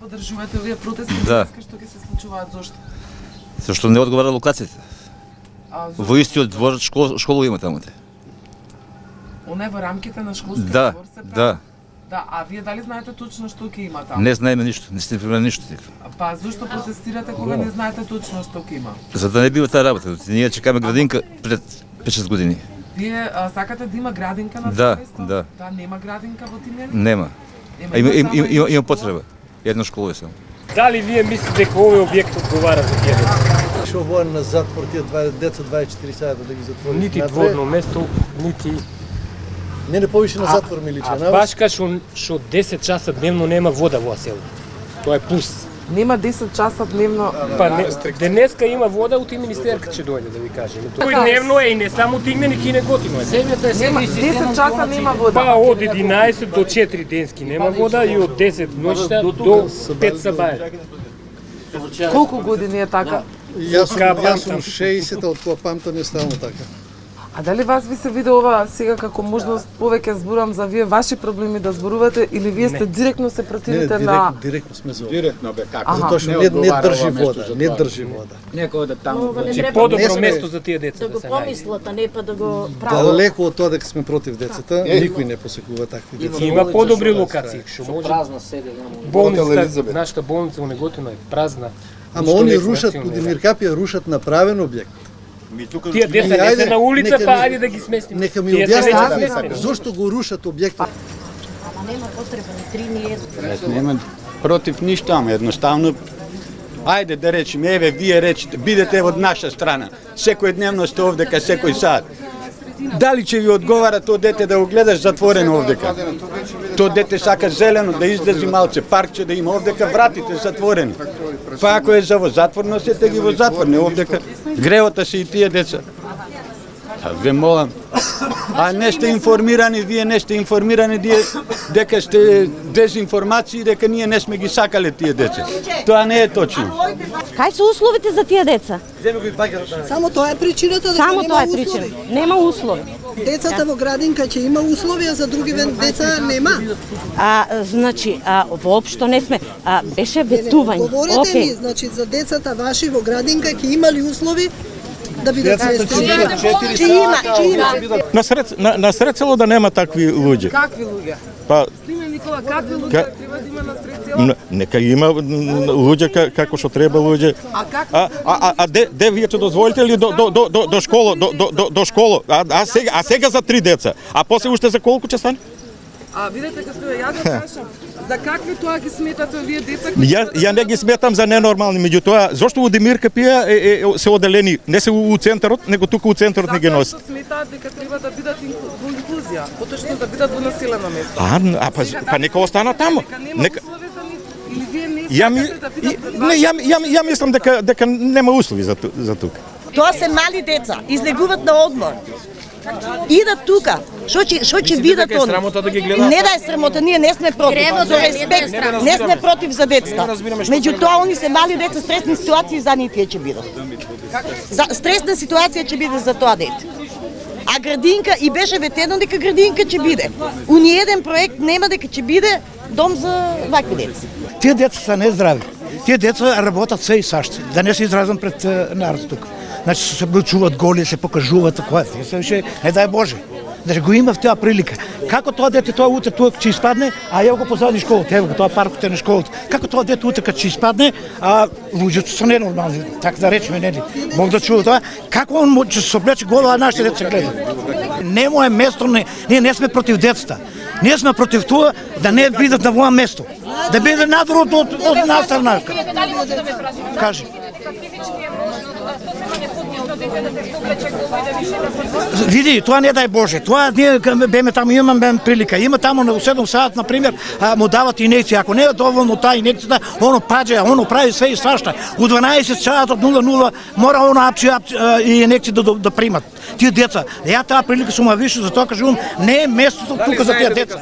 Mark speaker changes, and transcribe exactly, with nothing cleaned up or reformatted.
Speaker 1: поддржувате овие протести?
Speaker 2: Да.
Speaker 1: Што ќе се случуваат, зошто?
Speaker 2: Зашто не одговара локацијата. Во истиот двор школа, школа има таму.
Speaker 1: Оне во рамките на школскиот
Speaker 2: Да,
Speaker 1: двор се прави?
Speaker 2: да.
Speaker 1: Да, а вие дали знаете точно што ќе има таму?
Speaker 2: Не знаеме ништо, не сте информирани ништо.
Speaker 1: Па зошто протестирате кога не знаете точно што ќе има?
Speaker 2: За да не бива таа работа. Ние чекаме градинка пред пет-шест години.
Speaker 1: Вие а, сакате да има градинка на
Speaker 2: Да,
Speaker 1: место?
Speaker 2: да.
Speaker 1: Да, нема градинка во Тимјани?
Speaker 2: Нема. А има, има, има, има, има потреба. Една школа е само.
Speaker 3: Дали вие мислите дека овој објект одговара за тие деца?
Speaker 4: Што воен на затвор тие деца дваесет и четири сата да ги затвори?
Speaker 3: Нити дворно место, нити...
Speaker 4: Не не повише на затвор ми личи,
Speaker 3: а башка што што десет часа дневно нема вода во село. Тоа е плюс.
Speaker 1: Нема десет часа дневно.
Speaker 3: Па не, денеска има вода, ути министерка ќе дојде да ви кажеме. Тој дневно е и не само Тигнени, ки не готино е.
Speaker 1: Нема десет часа нема вода.
Speaker 3: Па од единаесет до четири денски нема вода и од десет ноќта до пет сабаја.
Speaker 1: Колку години е така?
Speaker 4: Јас сум, сум шеесет, од кога памтам е стално така.
Speaker 1: А дали вас ви се виде ова сега како можност повеќе зборам за вие ваши проблеми да зборувате или вие сте директно се противите
Speaker 4: не,
Speaker 1: на...
Speaker 4: Не, директно сме за ова.
Speaker 5: Директно бе, како?
Speaker 4: Затоа што не, не држи вода, не држи вода.
Speaker 5: Некој да таму.
Speaker 3: Значи подобро место за тие деца
Speaker 6: да го
Speaker 3: се најде.
Speaker 6: помислат, а не па да го прават.
Speaker 4: Далеко од тоа дека сме против децата, никој не посекува такви деца.
Speaker 3: Има подобри локации, што може.
Speaker 6: Празна седе.
Speaker 3: Болница, нашата болница во Неготино е празна.
Speaker 4: Ама они рушат, Будимир Капија рушат направен објект.
Speaker 3: Тие деца не се на улица, па ајде да ги сместиме.
Speaker 4: Нека ми објаснат зошто го рушат објектот.
Speaker 6: Ама нема потреба ни три ни едно.
Speaker 5: Нема против ништо, ама едноставно ајде да речеме, еве вие речете, бидете од наша страна. Секој дневно сте овдека, секој сат. Дали ќе ви одговара тоа дете да го гледаш затворено овдека? Тоа дете сака зелено да излези малце, паркче да има овдека, вратите затворени. Па ако е за во затвор, носете ги во затвор, не овдека. Греота се и тие деца. А ве молам, а не сте информирани, вие не сте информирани дека сте дезинформации, дека ние не сме ги сакале тие деца. Тоа не е точно.
Speaker 6: Кај се условите за тие деца?
Speaker 7: Само тоа е причината дека
Speaker 6: Само
Speaker 7: нема
Speaker 6: тоа е
Speaker 7: услови.
Speaker 6: причина. Нема услови.
Speaker 7: Децата во градинка ќе има услови, а за други деца нема.
Speaker 6: А значи, а, воопшто не сме. А, беше ветување.
Speaker 7: Говорете
Speaker 6: Океј.
Speaker 7: ми, значи за децата ваши во градинка ќе имали услови да бидат сместени.
Speaker 6: Ќе има, ќе има.
Speaker 8: На сред на, на сред село да нема такви луѓе.
Speaker 1: Какви луѓе?
Speaker 8: Па
Speaker 1: Сниме Никола, какви луѓе
Speaker 8: Ка-
Speaker 1: треба да има на сред село?
Speaker 8: н- нека има н- луѓе ка- како што треба луѓе.
Speaker 1: А какви?
Speaker 8: А а а де де вие ќе дозволите ли до до до до, до школа до до до, до школа? А, а сега а сега за три деца. А после уште за колку ќе стане?
Speaker 1: А видете господа, јас да прашам, за какви тоа ги сметате вие деца?
Speaker 8: Ја ја не ги сметам за ненормални, меѓутоа зошто во Демир Капија е, е, се оделени не се у центарот, него тука у центарот не ги
Speaker 1: Затоа
Speaker 8: носат.
Speaker 1: што сметаат дека треба да бидат инклу- во инклузија, поточно да бидат во населено место.
Speaker 8: А, а па, па нека остана таму.
Speaker 1: Дека нема
Speaker 8: Нека
Speaker 1: услови за нив, или вие не
Speaker 8: Ја ми
Speaker 1: сакате да
Speaker 8: и-
Speaker 1: бидат пред
Speaker 8: не,
Speaker 1: вас?
Speaker 8: ја, ја, ја мислам дека дека нема услови за ту- за тука.
Speaker 9: Тоа се мали деца, излегуваат на одмор. Идат тука. Што ќе што ќе видат они? Не да е срамота, ние не сме против.
Speaker 6: Требно
Speaker 9: За
Speaker 6: да е, не да е
Speaker 9: респект,
Speaker 6: срамота.
Speaker 9: не сме против за децата. Меѓутоа они се мали деца, стресни ситуации за нив тие ќе бидат. За стресна ситуација ќе биде за тоа дете. А градинка и беше ветено дека градинка ќе биде. У ниеден проект нема дека ќе биде дом за вакви деца.
Speaker 10: Тие деца се нездрави. Тие деца работат се и сашто. Да не се изразам пред народ тук. Значи се облечуваат голи, се покажуваат која е. Се више, не дай Боже. Значи го има в таа прилика. Како тоа дете тоа утре тука ќе испадне, а ја го позади школата, ево го тоа паркот е на школата. Како тоа дете утре ќе испадне, а луѓето се ненормални, така да речеме, нели? Мог да чува тоа. Како он може се облече голо, а нашите деца гледаат? Немо е место, не, ние не сме против децата. Ние сме против тоа да не бидат на воа место. Да биде надвор од, од, од нас страна. Кажи. Види, тоа не дај Боже. Тоа ние беме таму, имаме прилика. Има таму на седум сат, на пример, му дават инекција. Ако не е доволно таа инекцијата, оно паѓа, оно прави све и свашта. У дванаесет сат од нула нула мора оно апчи, апчи и инекција да, да, да примат. Тие деца. Ја таа прилика сум више, затоа кажувам, не е местото тука за тие деца.